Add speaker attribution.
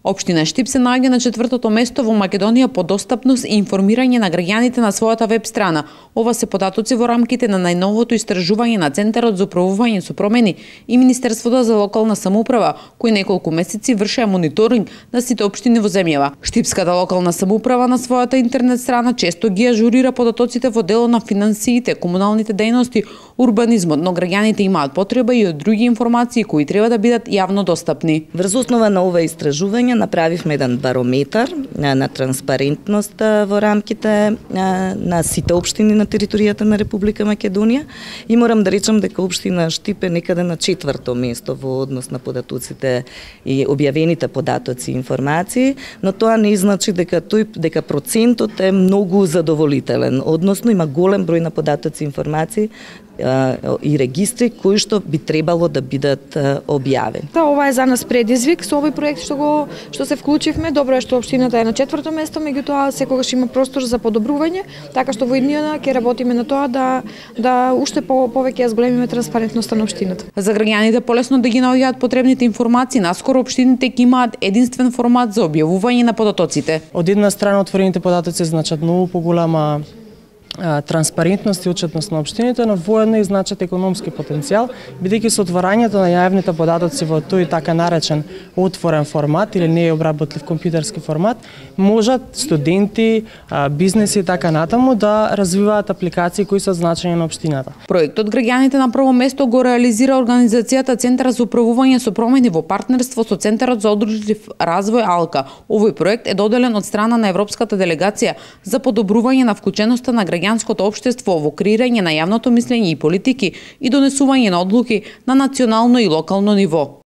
Speaker 1: Општина Штип се наоѓа на 4-то место во Македонија по достапност и информирање на граѓаните на својата веб страна. Ова се податоци во рамките на најновото истражување на Центарот за управување со промени и Министерството за локална самоуправа, кои неколку месеци вршеа мониторинг на сите општини во земјава. Штипската локална самоуправа на својата интернет страна често ги ажурира податоците во дело на финансиите, комуналните дејности, урбанизмот, но граѓаните имаат потреба и од други информации кои треба да бидат јавно достапни.
Speaker 2: Врз основа на ова истражување направивме еден барометар на транспарентност во рамките на сите општини на територијата на Република Македонија и морам да речам дека општина Штип е некаде на 4-то место во однос на податоците и објавените податоци и информации, но тоа не значи дека процентот е многу задоволителен, односно има голем број на податоци и информации и регистри кои што би требало да бидат објавени.
Speaker 3: Да, ова е за нас предизвик со овој проект што се вклучивме. Добро е што општината е на 4-то место, меѓутоа секогаш има простор за подобрување, така што во иднината ќе работиме на тоа да уште повеќе ја зголемиме транспарентноста на општината.
Speaker 1: За граѓаните полесно да ги наоѓаат потребните информации, наскоро општините ќе имаат единствен формат за објавување на податоците.
Speaker 4: Од една страна отворените податоци значат многу поголема транспарентност и отчетност на општините, но воедно и значат економски потенцијал, бидејќи со отворањето на јавните податоци во тој така наречен отворен формат или не обработлив компјутерски формат, можат студенти, бизнеси и така натаму да развиваат апликации кои се од значење на општината.
Speaker 1: Проектот граѓаните на прво место го реализира организацијата Центар за управување со промени во партнерство со Центарот за одржлив развој АЛКА. Овој проект е доделен од страна на Европската делегација за подобрување на вклученоста на граѓанското општество во креирање на јавното мислење и политики и донесување на одлуки на национално и локално ниво.